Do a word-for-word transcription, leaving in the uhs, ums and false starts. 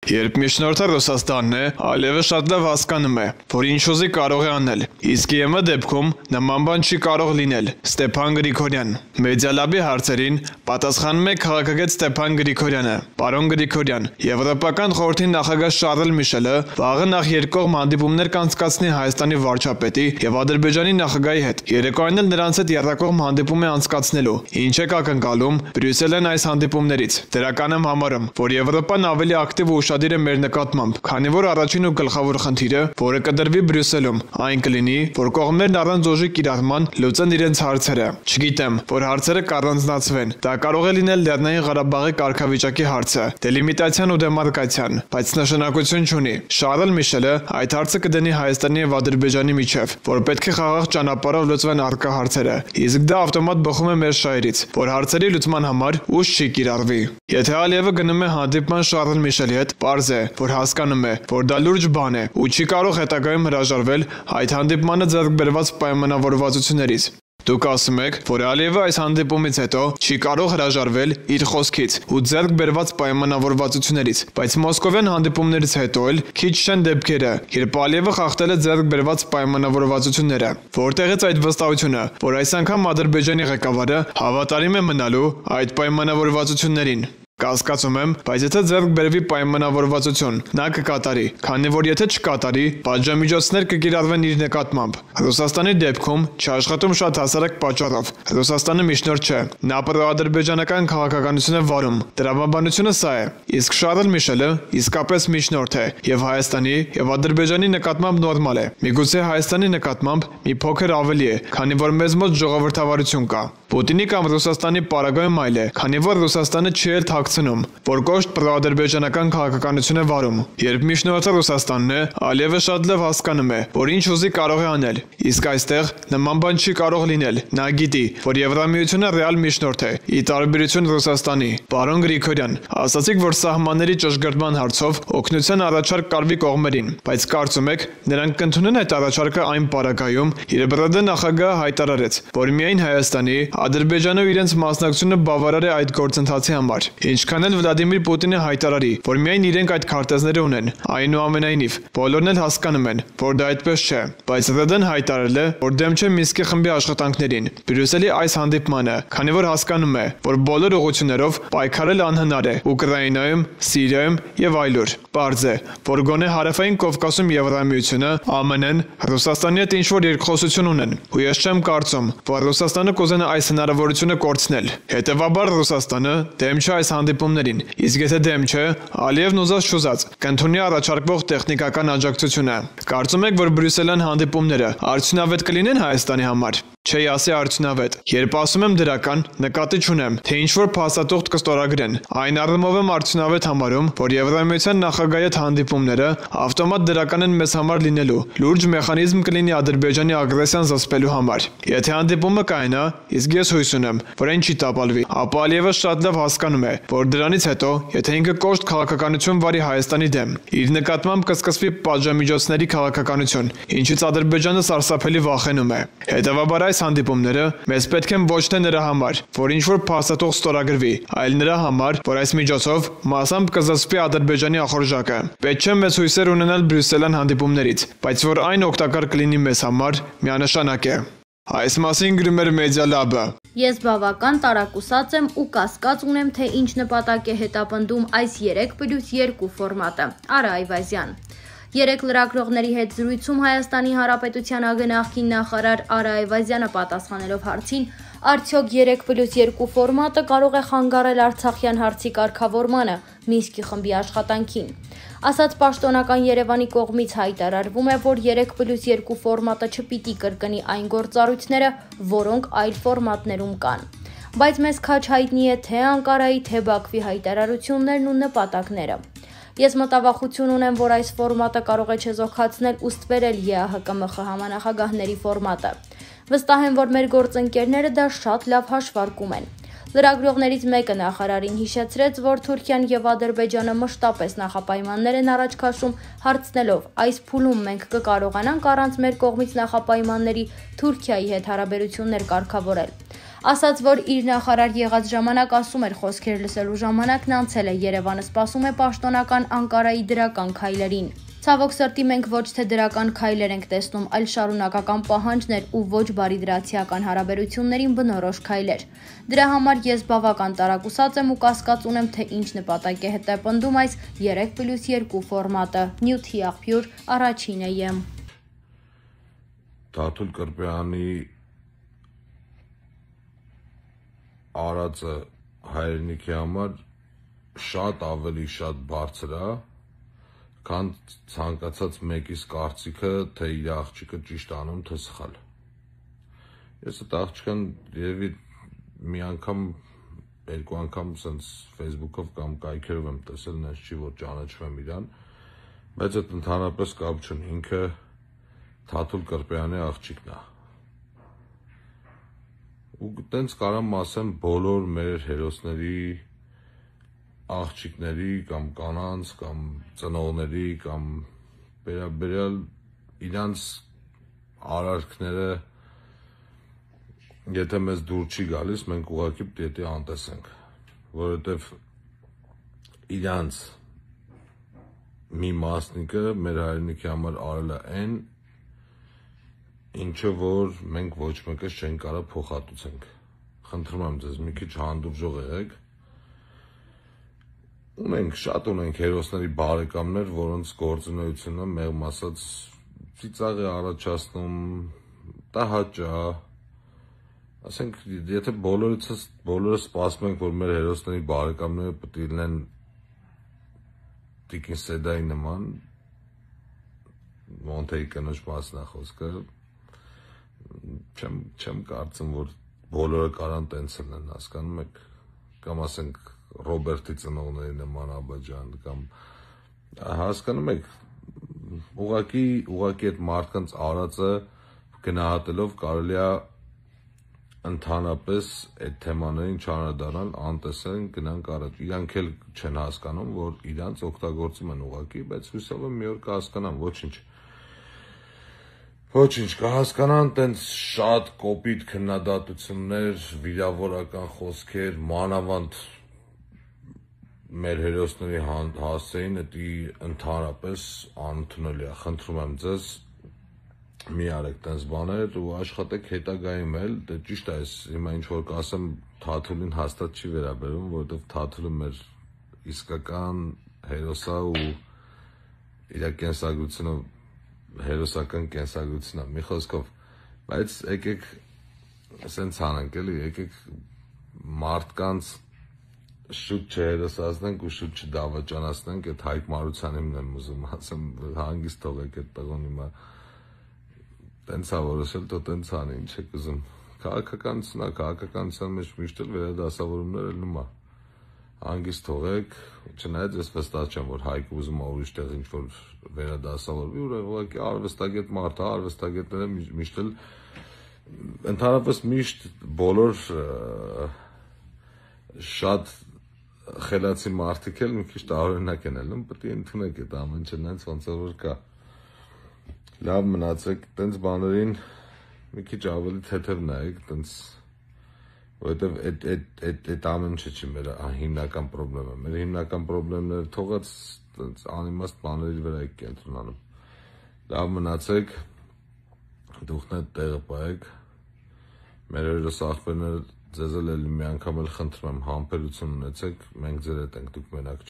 Երբ միջնորդը Ռուսաստանն է, Ալիևը շատ լավ հասկանում է, որ ինչ ուզի կարող է անել, իսկ ԵՄ դեպքում նման բան չի կարող լինել։ Ստեփան Գրիգորյան Մեդիալաբի հարցերին պատասխանում է քաղաքագետ Ստեփան Գրիգորյանը։ Պարոն Գրիգորյան, Եվրոպական խորհրդի նախագահ Շարլ Միշելը վաղը նախ երկկողմ հանդիպումներ կանցկացնի Հայաստանի վարչապետի եւ Ադրբեջանի նախագահի հետ։ Երեկոյան էլ նրանց հետ եռակողմ հանդիպում է անցկացնելու։ Ինչ է ակնկալում Բրյուսելն այս հանդիպումներից։ Դրական եմ համարում, որ Եվրոպան ավելի ակտիվ ու ուշադիր է մեր նկատմամբ, քանի որ առաջին ու գլխավոր խնդիրը, որը կդրվի Բրյուսելում, այն կլինի, որ կողմերն առանց ուժի կիրառման լուծեն իրենց հարցերը։ Չգիտեմ, որ հարցերը կառանձնացվեն։ Դա կարող է լինել Լեռնային Ղարաբաղի կարգավիճակի հարցը, դելիմիտացիան ու դեմարկացիան, բայց նշանակություն չունի։ Շարլ Միշելը այդ հարցը կդնի Հայաստանի եւ Ադրբեջանի միջև, որ պետք է խաղաղ ճանապարհով լուծվեն առկա հարցերը։ Իսկ դա ավտոմատ բխում է մեր շահերից, որ հարցերի լուծման համար ուժ չի կիրառվի։ Եթե Ալիևը գնում է հանդիպման Շարլ Միշելի հետ, պարզ է, որ հասկանում է, որ դա լուրջ բան է ու չի կարող հետագայում հրաժարվել այդ հանդիպմանը ձեռք բերված պայմանավորվածություններից։ Դուք ասում եք, որ Ալիևը այս հանդիպումից հետո չի կարող հրաժարվել իր խոսքից ու ձեռք բերված պայմանավորվածություններից, բայց մոսկովյան հանդիպումներից հետո էլ քիչ չեն դեպքերը, երբ Ալիևը խախտել է ձեռք բերված պայմանավորվածությունները։ Որտեղից այդ վստահությունը, որ այս անգամ Ադրբեջանի ղեկավարը հավատարիմ է մնալու այդ պայմանավորվածություններին։ Կասկածում եմ, բայց եթե ձեռք բերվի պայմանավորվածություն, նա կկատարի, քանի որ եթե չկատարի, պատժամիջոցներ կկիրառվեն իր նկատմամբ։ Ռուսաստանի դեպքում չաշխատում շատ հասարակ պատճառով։ Ռուսաստանը միջնորդ չէ, նա պրոադրբեջանական քաղաքականություն է վարում։ Տրամաբանությունը սա է։ Իսկ Շարլ Միշելը իսկապես միջնորդ է, եւ Հայաստանի եւ Ադրբեջանի նկատմամբ նորմալ է։ Միգուցե Հայաստանի նկատմամբ մի փոքր ավելի է, քանի որ մեզ մոտ ժողովրդավարություն կա։ Պուտինի կամ Ռուսաստանի պարագայում այլ է, քանի որ Ռուսաստանը չի էլ թաքցնում, որ կոշտ պրոադրբեջանական քաղաքականություն է վարում։ Երբ միջնորդը Ռուսաստանն է, Ալիևը շատ լավ հասկանում է, որ ինչ ուզի կարող է անել, իսկ այստեղ նման բան չի կարող լինել։ Նա գիտի, որ Եվրամիությունը ռեալ միջնորդ է, ի տարբերություն Ռուսաստանի։ Պարոն Գրիգորյան, ասացիք, որ սահմանների ճշգրտման հարցով օգնության առաջարկ կարվի կողմերին, բայց կարծում եք, նրանք կընդունեն այդ առաջարկը այն պարագայում, երբ ՌԴ նախագահը հայտարարեց, որ միայն Հայաստանի, Ադրբեջանը իրենց մասնակցությունը բավարար է այդ գործընթացի համար։ Ինչքան էլ Վլադիմիր Պուտինը հայտարարի, որ միայն իրենք այդ քարտեզները ունեն, այնուամենայնիվ, բոլորն էլ հասկանում են, որ դա այդպես չէ, բայց ՌԴ-ն հայտարարել է, որ դեմ չէ Մինսկի խմբի աշխատանքներին, Բրյուսելի այս հանդիպմանը, քանի որ հասկանում է, որ բոլոր ուղղություններով պայքարել անհնար է Ուկրաինայում, Սիրիայում եւ այլուր։ Պարզ է, որ գոնե Հարավային Կովկասում Եվրամիությունը, ԱՄՆ-ն, Ռուսաստանի հետ ինչ-որ երկխոսություն ունեն, ու ես չեմ կարծում, որ Ռուսաստանը կուզենա այս հնարավորությունը կորցնել։ Հետևաբար Ռուսաստանը դեմ չէ այս հանդիպումներին, իսկ եթե դեմ չէ, Ալիևն ուզած չուզած կընդունի առաջարկվող տեխնիկական աջակցությունը։ Կարծում եք, որ բրյուսելյան հանդիպումները արդյունավետ կլինեն Հայաստանի համար։ Չի ասի արդյունավետ։ Երբ ասում եմ դրական, նկատի չունեմ, թե ինչ-որ փաստաթուղթ կստորագրեն։ Այն առումով եմ արդյունավետ համարում, որ Եվրամիության նախագահի հետ հանդիպումները ավտոմատ դրական են մեզ համար լինելու։ Լուրջ մեխանիզմ կլինի Ադրբեջանի ագրեսիան զսպելու համար։ Եթե հանդիպումը կայանա, իսկ ես հույս ունեմ, որ այն չի տապալվի, ապա Ալիևը շատ լավ հասկանում է, որ դրանից հետո, եթե ինքը կոշտ քաղաքականություն վարի Հայաստանի դեմ, իր նկատմամբ կսկսվի պատժամիջոցների քաղաքականություն, ինչից Ադրբեջանը սարսափելի վախենում է։ Հետևաբար այս հանդիպումները մեզ պետք են ոչ թե նրա համար, որ ինչ-որ փաստաթուղթ ստորագրվի, այլ նրա համար, որ այս միջոցով մասամբ կզսպի Ադրբեջանի ախորժակը։ Պետք չէ մեծ հույսեր ունենալ բրյուսելյան հանդիպումներից, բայց որ այն օգտակար կլինի մեզ համար, միանշանակ է։ Այս մասին գրում էր Մեդիալաբը։ Ես բավական տարակուսած եմ ու կասկած ունեմ, թե ինչ նպատակ է հետապնդում այս երեք պլյուս երկու ֆորմատը։ Արա Այվազյան։ Երեք լրագրողների հետ զրույցում Հայաստանի Հանրապետության ԱԳ նախարար Արա Այվազյանը պատասխանելով հարցին, արդյոք երեք պլյուս երկու ֆորմատը կարող է խանգարել Արցախյան հարցի կարգավորմանը, Մինսկի խմբի աշխատանքին։ Ասաց պաշտոնական Երևանի կողմից հայտարարվում է, որ երեք պլյուս երկու ֆորմատը չպիտի կրկնի այն գործառույթները, որոնք այլ ֆորմատներում կան։ Բայց մեզ քաչ հայտնի է թե Անկարայի, թե Բաքվի հայտարարություններն ու նպատակները։ Ես մտավախություն ունեմ, որ այս ֆորմատը կարող է չեզոքացնել ու ստվերել ԵԱՀԿ-ՄԽ համանախագահների ֆորմատը։ Վստահ եմ, որ մեր գործընկերները դա շատ լավ հաշվարկում են։ Լրագրողներից մեկը նախարարին հիշեցրեց, որ Թուրքիան եւ Ադրբեջանը մշտապես նախապայմաններ են առաջ քաշում, հարցնելով. այս փուլում մենք կկարողանանք առանց մեր կողմից նախապայմանների Թուրքիայի հետ հարաբերություններ կարգավորել։ Ասաց, որ իր նախարար եղած ժամանակ ասում էր խոսքեր լսելու ժամանակն անցել է, Երևանը սպասում է պաշտոնական Անկարայի դրական քայլերին։ Ցավոք սրտի մենք ոչ թե դրական քայլեր ենք տեսնում, այլ շարունակական պահանջներ ու ոչ բարիդրացիական հարաբերություններին բնորոշ քայլեր։ Դրա համար ես բավական տարակուսած եմ ու կասկած ունեմ, թե ինչ նպատակ է հետապնդում այս երեք պլյուս երկու ֆորմատը։ Նյութի աղբյուր առաջինը եմ։ Թաթուլ Կրպեյանի արածը հայրենիքի համար շատ ավելի շատ բարձր է, քան ցանկացած մեկիս կարծիքը, թե իր աղջիկը ճիշտ անում, թե սխալ։ Ես այդ աղջկան երևի մի անգամ, երկու անգամ սենց Facebook-ով կամ կայքերով եմ տեսել, նենց չի, որ ճանաչվեմ իրան, բայց այդ ընդհանրապես կապ չունի, ինքը Թաթուլ Կրպեյանի աղջիկն է։ Ու տենց կարամ ասեմ բոլոր մեր հերոսների, աղջիկների կամ կանանց կամ ծնողների կամ վերաբերյալ իրանց արարքները եթե մեզ դուր չի գալիս, մենք ուղղակի պետք է անտեսենք, որովհետև իրանց մի մասնիկը մեր հայրենիքի համար արել է այն, ինչը որ մենք ոչ մեկս չենք կարող փոխհատուցենք։ Խնդրում եմ ձեզ մի քիչ հանդուրժող եղեք։ Ունենք, շատ ունենք հերոսների բարեկամներ, որոնց գործունեությունը մեղմ ասած ծիծաղ է առաջացնում, տհաճ է։ Ասենք, եթե բոլորից բոլորը սպասում ենք, որ մեր հերոսների բարեկամները պետք է լինեն Տիկին Սեդայի նման, Մոնթեի կնոջ մասն է խոսքը, չեմ չեմ կարծում, որ բոլորը կարան տենց լինեն, հասկանում եք, կամ ասենք Ռոբերտի ծնողների նման Աբաջան, կամ հասկանում եք, ուղղակի ուղղակի այդ մարդկանց արածը գնահատելով կարելի է ընդհանրապես այդ թեմաներին չանդրադառնալ, անտեսեն, գնանք առաջ։ Իրանք էլ չեն հասկանում, որ իրանց օգտագործում են ուղղակի, բայց հուսով եմ մի օր կհասկանան, ոչինչ։ Ոչինչ, կհասկանան տենց շատ կոպիտ քննադատություններ, վիրավորական խոսքեր, մանավանդ մեր հերոսների հասցեին, դա ընդհանրապես անընդունելի է։ Խնդրում եմ ձեզ, մի արեք տենց բաներ ու աշխատեք հետագայում էլ, դե ճիշտ է, այս հիմա ինչ որ կասեմ Թաթուլին հաստատ չի վերաբերում, որովհետև Թաթուլը մեր իսկական հերոսա ու իր կենսագրությունը հերոսական կենսագրությունն է, մի խոսքով, բայց եկեք սենց անենք էլի, եկեք մարդկանց շուտ չհերոսացնենք ու շուտ չդավաճանացնենք, այդ Հայկ Մարությանին եմ ուզում ասեմ, հանգիստ թողեք այդ տղոն հիմա տենց է որոշել, թո տենց անի, ինչ եք ուզում, քաղաքականություն է, քաղաքականության մեջ միշտ էլ վերադասավորումներ էլ նույն է, հանգիստ թողեք, չնայած ես վստահ չեմ, որ Հայկը ուզում է ուրիշ տեղ ինչ-որ վերադասավորվի, ուղղակի արվեստագետ մարդ է, արվեստագետները միշտ էլ, ընդհանրապես միշտ բոլոր շատ խելացի մարդիկ էլ մի քիչ տարօրինակ են ելնում, պետք է ընդունեք այդ ամեն ինչը նենց ոնց որ կա։ Լավ մնացեք, տենց բաներին մի քիչ ավելի թեթև նայեք, տենց, որովհետև այդ ամեն ինչը չի մեր հիմնական պրոբլեմը, մեր հիմնական պրոբլեմները թողած անիմաստ բաների վրա եք կենտրոնանում։ Լավ մնացեք, դուքն այդ տեղը պահեք, մեր հերոս աղբերները ձեզ էլ մի անգամ էլ խնդրում եմ համբերություն ունեցեք, մենք ձեր հետ ենք, դուք մենակ